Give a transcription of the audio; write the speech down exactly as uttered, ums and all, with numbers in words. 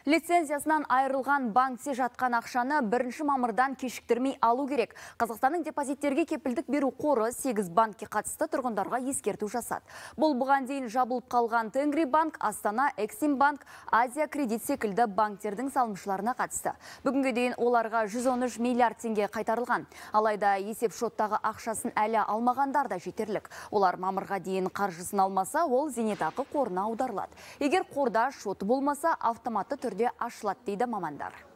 Лицензиясынан айырылған банкте жатқан ақшаны бірінші мамырдан кешіктірмей алу керек. Қазақстанның депозиттерге кепілдік беру қоры сегіз банкке қатысты тұрғындарға ескерту жасады. Бұл бұған дейін жабылып қалған Тенгри банк, Астана, Эксим банк, Азия кредит секілді банктердің салымшыларына қатысты. Бүгінге дейін оларға жүз он үш миллиард теңге қайтарылған. Алайда есеп шоттағы ақшасын әлі алмағандар да жетерлік. Олар мамырға дейін қаржысын алмаса, ол зейнетақы қорына аударылады. Егер қорда шоты болмаса, автоматты түрде ашылады дейді мамандар.